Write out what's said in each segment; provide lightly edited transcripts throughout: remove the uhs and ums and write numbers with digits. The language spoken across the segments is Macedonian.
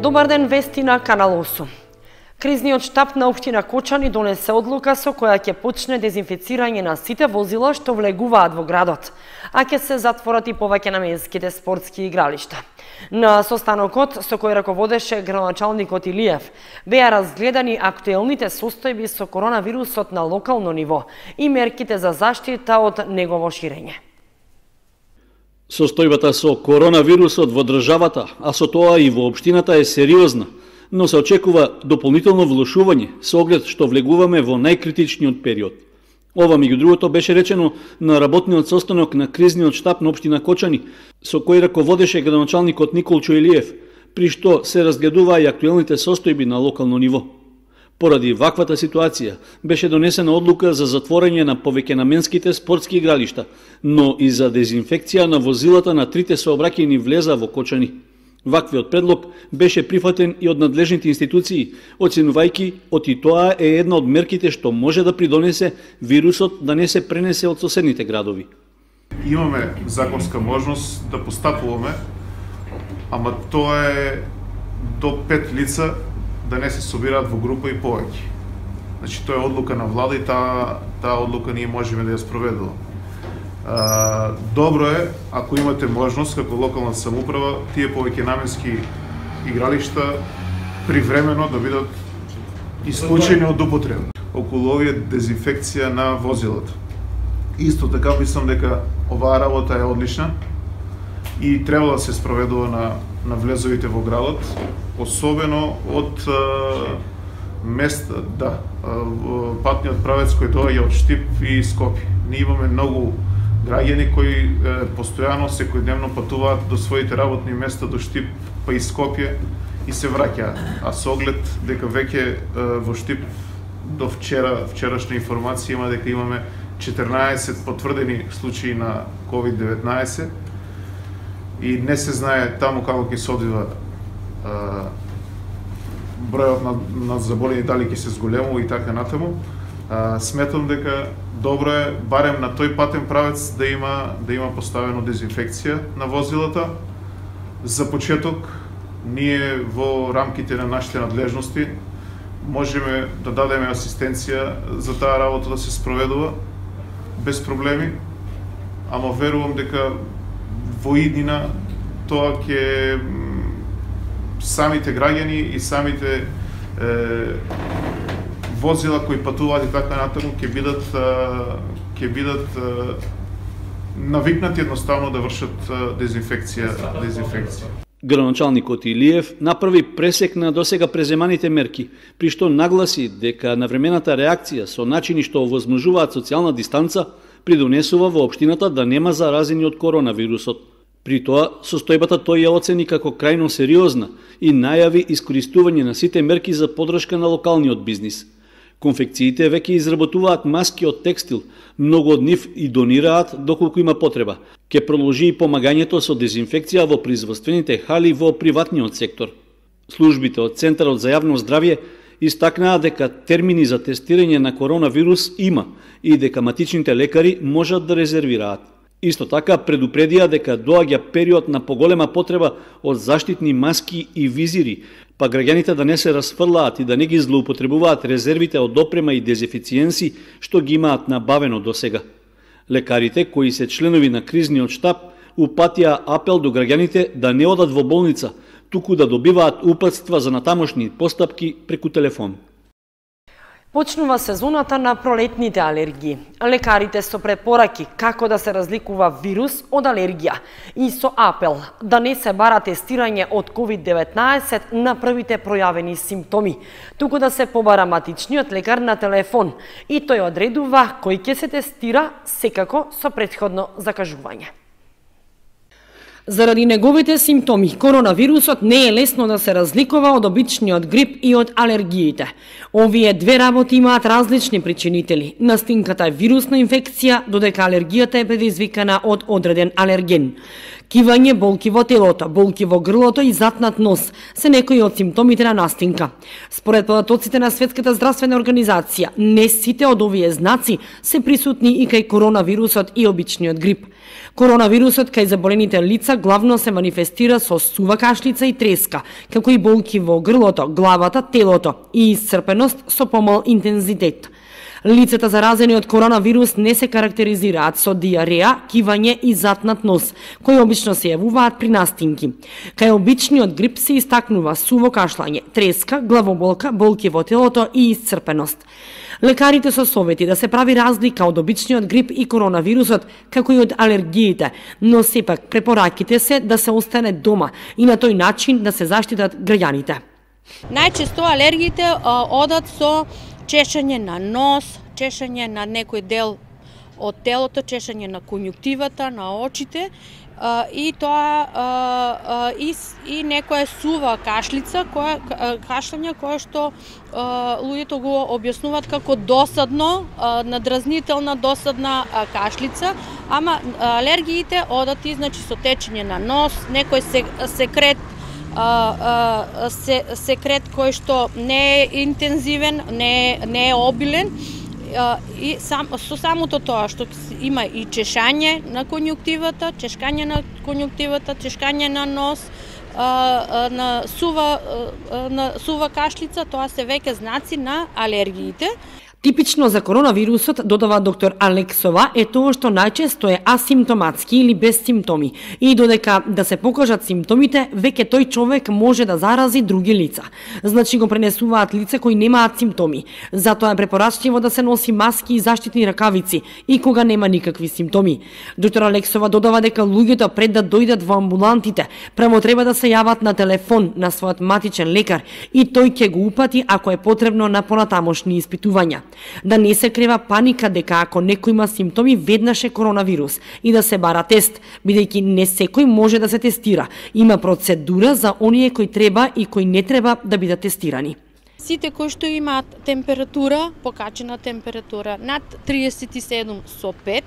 Добар ден, вести на Канал 8. Кризниот штаб на општина Кочани донесе одлука со која ќе почне дезинфецирање на сите возила што влегуваат во градот, а ќе се затворат и повеќе наменските спортски игралишта. На состанокот со кој раководеше градоначалникот Илиев беа разгледани актуелните состојби со коронавирусот на локално ниво и мерките за заштита од негово ширење. Состојбата со коронавирусот во државата, а со тоа и во општината е сериозна, но се очекува дополнително влошување со оглед што влегуваме во најкритичниот период. Ова, меѓу другото, беше речено на работниот состанок на кризниот штаб на општина Кочани, со кој раководеше градоначалникот Николчо Илиев, при што се разгледуваа и актуелните состојби на локално ниво. Поради ваквата ситуација беше донесена одлука за затворање на повеќенаменските спортски игралишта, но и за дезинфекција на возилата на трите сообраќајни влеза во Кочани. Ваквиот предлог беше прифатен и од надлежните институции, оценувајќи и тоа е една од мерките што може да придонесе вирусот да не се пренесе од соседните градови. Имаме законска можност да постапуваме, ама тоа е до 5 лица да не се собираат во група и повеќе. Значи, тоа е одлука на влада и таа одлука ние можеме да ја спроведуваме. Добро е, ако имате можност, како локална самоуправа, тие повеќенаменски игралишта привремено да бидат исклучени од употреба. Околу овие дезинфекција на возилата. Исто така мислам дека оваа работа е одлична и треба да се спроведува на влезовите во градот, особено од места, патниот правец кој доаѓа од Штип и Скопје. Ние имаме многу граѓани кои постојано, секојдневно патуваат до своите работни места до Штип па и Скопје и се враќаат. А со оглед дека веќе во Штип до вчерашна информација има дека имаме 14 потврдени случаи на COVID-19 и не се знае таму како ќе се одвива бројот на заболени, дали ќе се зголемува и така натаму. Сметам дека добро е барем на тој патен правец да има поставено дезинфекција на возилата. За почеток, ние во рамките на нашите надлежности можеме да дадеме асистенција за таа работа да се спроведува без проблеми, ама верувам дека во иднина тоа ќе самите граѓани и самите возила кои патуваат и така натаму ќе бидат навикнати едноставно да вршат дезинфекција. Градоначалникот Илиев направи пресек на досега преземаните мерки, при што нагласи дека навремената реакција со начини што овозможуваат социјална дистанца придонесува во општината да нема заразени од коронавирусот. При тоа, состојбата тој ја оцени како крајно сериозна и најави искористување на сите мерки за поддршка на локалниот бизнис. Конфекциите веќе изработуваат маски од текстил, многу од нив и донираат доколку има потреба. Ке продолжи и помагањето со дезинфекција во производствените хали во приватниот сектор. Службите од Центарот за јавно здравје истакнаа дека термини за тестирање на коронавирус има и дека матичните лекари можат да резервираат. Исто така предупредија дека доаѓа период на поголема потреба од заштитни маски и визири, па граѓаните да не се расфрлаат и да не ги злоупотребуваат резервите од опрема и дезинфициенси што ги имаат набавено досега. Лекарите, кои се членови на кризниот штаб, упатија апел до граѓаните да не одат во болница, туку да добиваат упатства за натамошни постапки преку телефон. Почнува сезоната на пролетните алергии. Лекарите со препораки како да се разликува вирус од алергија и со апел да не се бара тестирање од COVID-19 на првите пројавени симптоми, туку да се побара матичниот лекар на телефон и тој одредува кој ќе се тестира, секако со претходно закажување. Заради неговите симптоми, коронавирусот не е лесно да се разликува од обичниот грип и од алергиите. Овие две работи имаат различни причинители. Настинката е вирусна инфекција, додека алергијата е предизвикана од одреден алерген. Кивање, болки во телото, болки во грлото и затнат нос се некои од симптомите на настинка. Според податоците на Светската здравствена организација, не сите од овие знаци се присутни и кај коронавирусот и обичниот грип. Коронавирусот кај заболените лица главно се манифестира со сува кашлица и треска, како и болки во грлото, главата, телото и исцрпеност со помал интензитет. Лицата заразени од коронавирус не се карактеризираат со диареја, кивање и затнат нос, кои обично се јавуваат при настинки. Кај обичниот грип се истакнува суво кашлање, треска, главоболка, болки во телото и исцрпеност. Лекарите со совети да се прави разлика од обичниот грип и коронавирусот, како и од алергиите, но сепак препораките се да се остане дома и на тој начин да се заштитат граѓаните. Најчесто алергиите одат со чешање на нос, чешање на некој дел од телото, чешање на конјуктивата, на очите и тоа и некоја сува кашлица, кашлање кое што луѓето го објаснуваат како досадно, надразнителна досадна кашлица, ама алергиите одат и значи со течење на нос, некој секрет секрет кој што не е интензивен, не е обилен и со самото тоа што има и чешање на конјуктивата, чешкање на нос, на сува кашлица, тоа се веќе знаци на алергиите. Типично за коронавирусот, додава доктор Алексова, е тоа што најчесто е асимптоматски или без симптоми и додека да се покажат симптомите, веќе тој човек може да зарази други лица. Значи го пренесуваат лица кои немаат симптоми. Затоа е препорачливо да се носи маски и заштитни ракавици и кога нема никакви симптоми. Доктор Алексова додава дека луѓето пред да дојдат во амбулантите, прво треба да се јават на телефон на својот матичен лекар и тој ќе го упати ако е потребно на понатамошни испитувања. Да не се крива паника дека ако некој има симптоми веднаш е коронавирус и да се бара тест, бидејќи не секој може да се тестира. Има процедура за оние кои треба и кои не треба да бидат тестирани. Сите кои што имаат температура, покачена температура над 37,5,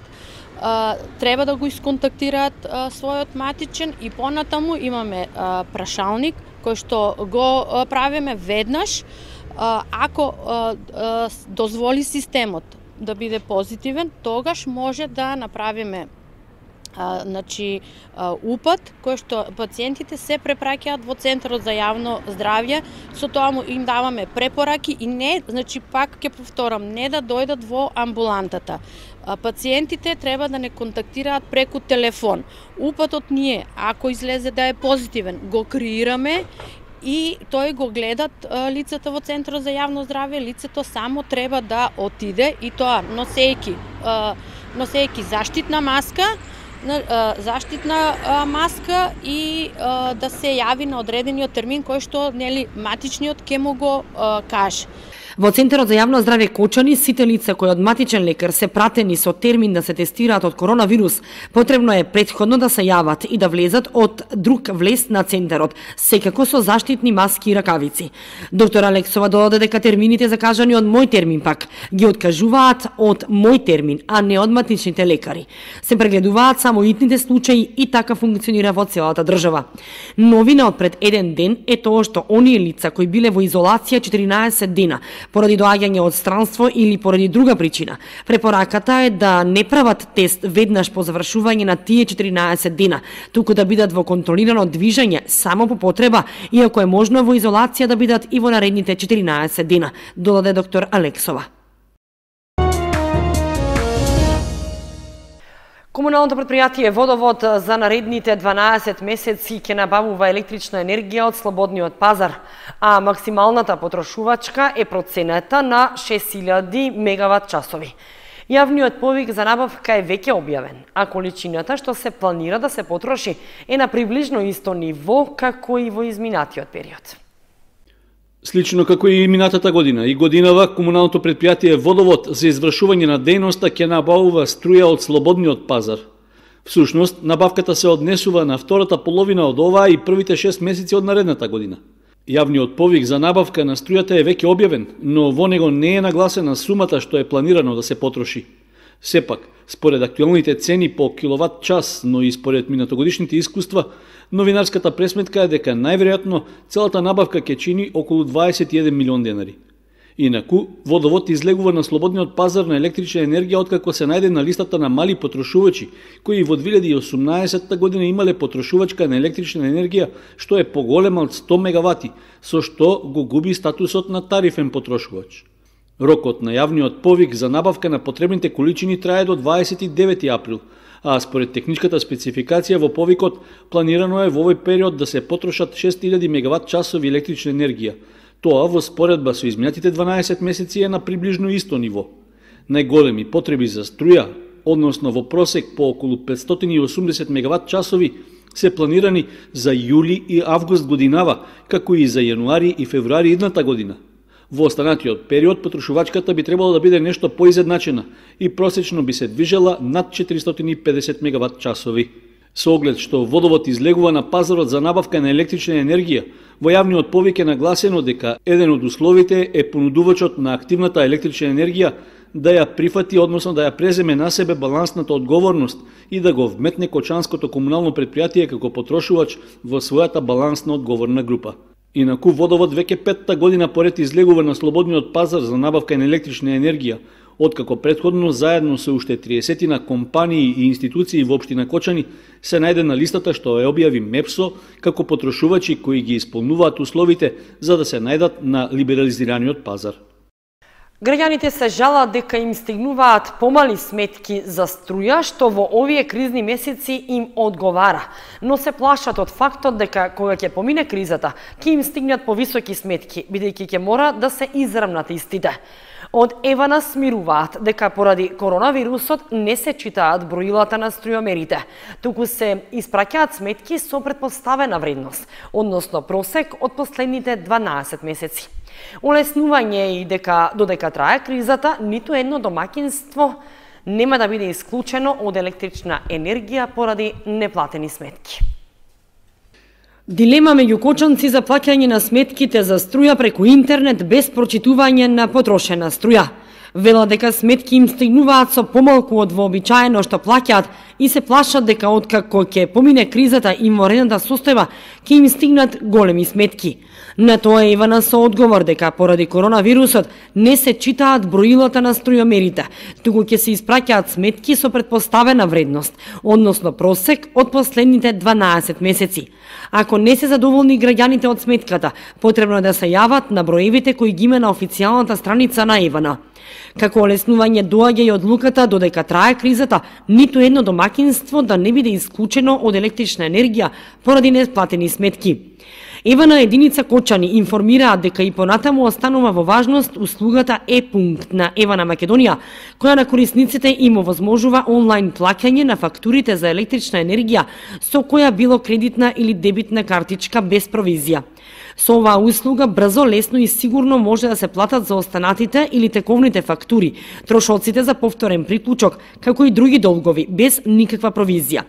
треба да го исконтактираат својот матичен и понатаму имаме прашалник кој што го правиме веднаш. Ако дозволи системот да биде позитивен, тогаш може да направиме упат кој што пациентите се препраќаат во Центарот за јавно здравје, со тоа им даваме препораки и не, пак ќе повторам, не да дојдат во амбулантата. Пациентите треба да не контактираат преку телефон. Упатот ние, ако излезе да е позитивен, го креираме и тој го гледат лицата во Центарот за јавно здравје, лицето само треба да отиде и тоа носејќи заштитна маска и да се јави на одредениот термин кој што матичниот ќе му го каже. Во Центарот за јавно здравје Кочани, сите лица кои од матичен лекар се пратени со термин да се тестираат од коронавирус, потребно е претходно да се јават и да влезат од друг влез на Центарот, секако со заштитни маски и ракавици. Доктор Алексова додаде дека термините закажани од мој термин пак ги откажуваат од мој термин, а не од матичните лекари. Се прегледуваат само итните случаи и така функционира во целата држава. Новина од пред еден ден е тоа што оние лица кои биле во изолација 14 дена поради доаѓање од странство или поради друга причина. Препораката е да не прават тест веднаш по завршување на тие 14 дена, туку да бидат во контролирано движење само по потреба и ако е можно во изолација да бидат и во наредните 14 дена, додаде доктор Алексова. Комуналното претпријатие Водовод за наредните 12 месеци ќе набавува електрична енергија од слободниот пазар, а максималната потрошувачка е проценета на 6000 мегават часови. Јавниот повик за набавка е веќе објавен, а количината што се планира да се потроши е на приближно исто ниво како и во изминатиот период. Слично како и минатата година, и годинава комуналното претпријатие Водовод за извршување на дејноста ќе набавува струја од слободниот пазар. Всушност, набавката се однесува на втората половина од оваа и првите 6 месеци од наредната година. Јавниот повик за набавка на струјата е веќе објавен, но во него не е нагласена сумата што е планирано да се потроши. Сепак, според актуелните цени по киловат час, но и според минатогодишните искуства, новинарската пресметка е дека најверојатно целата набавка ќе чини околу 21 милион денари. Инаку, Водовод излегува на слободниот пазар на електрична енергија откако се најде на листата на мали потрошувачи, кои во 2018 година имале потрошувачка на електрична енергија што е поголема од 100 мегавати, со што го губи статусот на тарифен потрошувач. Рокот на јавниот повик за набавка на потребните количини трае до 29 април, а според техничката спецификација во повикот планирано е во овој период да се потрошат 6000 мегават часови електрична енергија. Тоа во споредба со изминатите 12 месеци е на приближно исто ниво. Најголеми потреби за струја, односно во просек по околу 580 мегават часови, се планирани за јули и август годинава, како и за јануари и февруари идната година. Во останатиот период потрошувачката би требало да биде нешто поизедначена и просечно би се движела над 450 мегават часови. Со оглед што Водовод излегува на пазарот за набавка на електрична енергија, во јавниот повик е нагласено дека еден од условите е понудувачот на активната електрична енергија да ја прифати, односно да ја преземе на себе балансната одговорност и да го вметне Кочанското комунално предпријатие како потрошувач во својата балансна одговорна група. Инаку Водовод веќе 5-та година поред излегува на слободниот пазар за набавка на електрична енергија, откако претходно заедно со уште 30 компании и институции во општина Кочани се најде на листата што ја објави МЕПСО како потрошувачи кои ги исполнуваат условите за да се најдат на либерализираниот пазар. Граѓаните се жалат дека им стигнуваат помали сметки за струја, што во овие кризни месеци им одговара, но се плашат од фактот дека кога ќе помине кризата, ќе им стигнат повисоки сметки, бидејќи ќе мора да се израмнат истите. Од Евана смируваат дека поради коронавирусот не се читаат броилата на струјомерите, туку се испраќаат сметки со претпоставена вредност, односно просек од последните 12 месеци. Олеснување е и дека додека трае кризата, ниту едно домаќинство нема да биде исклучено од електрична енергија поради неплатени сметки. Дилема меѓу кочанци за плаќање на сметките за струја преку интернет без прочитување на потрошена струја. Вела дека сметки им стигнуваат со помалку од вообичаено што плаќаат и се плашат дека откако ќе помине кризата и морената состојба, ќе им стигнат големи сметки. На тоа Ивана со одговор дека поради коронавирусот не се читаат броилата на струјомерите, туку ќе се испраќаат сметки со претпоставена вредност, односно просек од последните 12 месеци. Ако не се задоволни граѓаните од сметката, потребно е да се јават на броевите кои ги има на официјалната страница на Ивана. Како олеснување доаѓа и одлуката додека трае кризата, ниту едно домаќинство да не биде исклучено од електрична енергија поради несплатени сметки. Евана единица Кочани информираат дека и понатаму останува во важност услугата Е-пункт на Евана Македонија, која на корисниците им овозможува онлайн плаќање на фактурите за електрична енергија со која било кредитна или дебитна картичка без провизија. Со оваа услуга брзо, лесно и сигурно може да се платат за останатите или тековните фактури, трошоците за повторен приклучок, како и други долгови, без никаква провизија.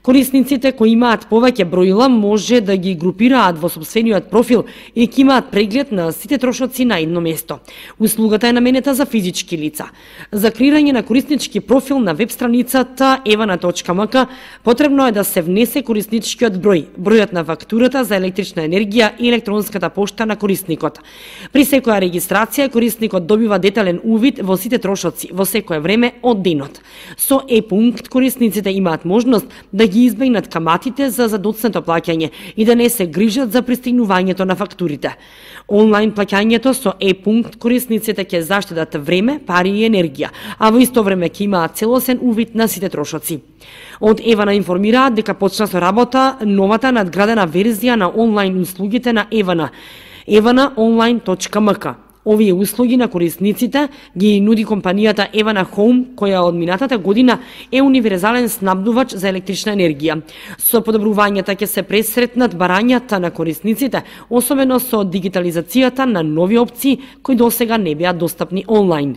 Корисниците кои имаат повеќе броила може да ги групираат во сопствениот профил и ќе имаат преглед на сите трошоци на едно место. Услугата е наменета за физички лица. За креирање на кориснички профил на веб страницата evana.mk потребно е да се внесе корисничкиот број, бројот на фактурата за електрична енергија и електронската пошта на корисникот. При секоја регистрација корисникот добива детален увид во сите трошоци во секое време од денот. Со Е-пункт корисниците имаат можност да ги избегнат каматите за задоцнето плаќање и да не се грижат за пристигнувањето на фактурите. Онлайн плаќањето со Е-пункт корисниците ќе заштедат време, пари и енергија, а во исто време ќе имаат целосен увид на сите трошоци. Од Евана информираат дека почна со работа новата надградена верзија на онлайн услугите на Евана, evana.online.mk. Овие услуги на корисниците ги нуди компанијата Евана Хоум, која од минатата година е универзален снабдувач за електрична енергија. Со подобрувањата ќе се пресретнат барањата на корисниците, особено со дигитализацијата на нови опции кои досега не беа достапни онлайн.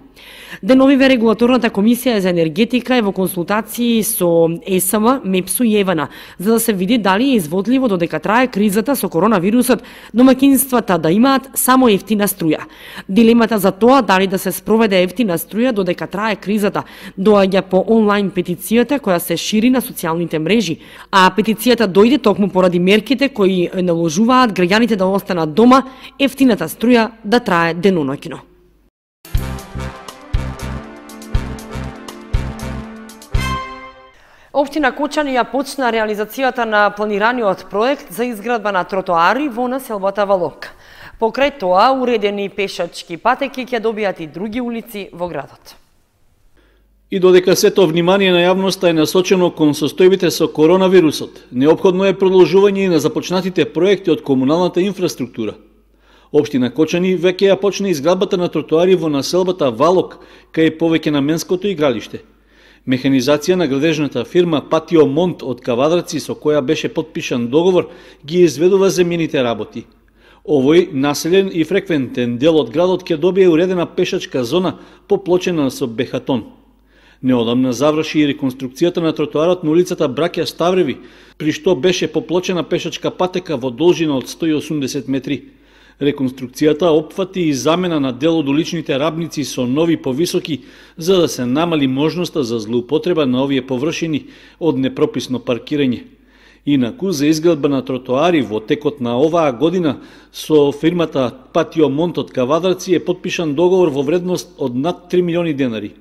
Деновиве регулаторната комисија за енергетика е во консултации со ЕСМ, МЕПСО и Евана, за да се види дали е изводливо додека трае кризата со коронавирусот домаќинствата да имаат само ефтина струја. Дилемата за тоа дали да се спроведе ефтина струја додека трае кризата доаѓа по онлайн петицијата која се шири на социјалните мрежи, а петицијата дојде токму поради мерките кои наложуваат граѓаните да останат дома, ефтината струја да трае деноноќно. Општина Кочани ја почна реализацијата на планираниот проект за изградба на тротоари во населбата Валок. Покрај тоа, уредени пешачки патеки ќе добијат и други улици во градот. И додека сето внимание на јавноста е насочено кон состојбите со коронавирусот, неопходно е продолжување и на започнатите проекти од комуналната инфраструктура. Општина Кочани веќе ја почна изградбата на тротоари во населбата Валок, кај повеќе наменското игралиште. Механизација на градежната фирма Патио Монт од Кавадраци, со која беше потпишан договор, ги изведува земјените работи. Овој населен и фреквентен дел од градот ќе добие уредена пешачка зона поплочена со бехатон. Неодамна заврши и реконструкцијата на тротоарот на улицата Браќа Ставреви, при што беше поплочена пешачка патека во должина од 180 метри. Реконструкцијата опфати и замена на дел од уличните рабници со нови повисоки, за да се намали можноста за злоупотреба на овие површини од непрописно паркирање. Инаку, за изградба на тротоари во текот на оваа година со фирмата Патио Монт од Кавадраци е потпишан договор во вредност од над 3 милиони денари.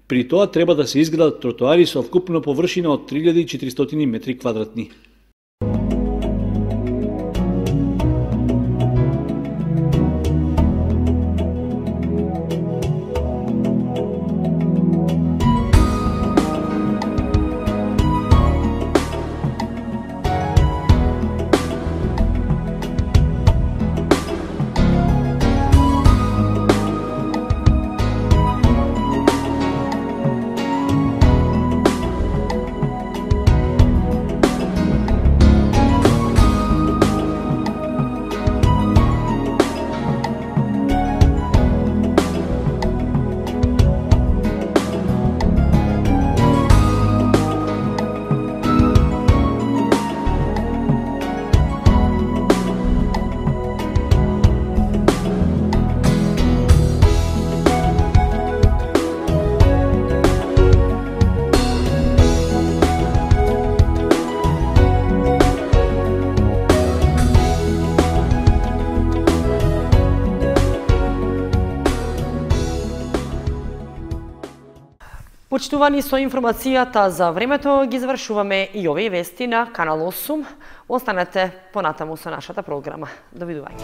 При тоа треба да се изградат тротоари со вкупна површина од 3400 метри квадратни. Почитувани, со информацијата за времето ги завршуваме и овие вести на Канал 8. Останете понатаму со нашата програма. Довидување.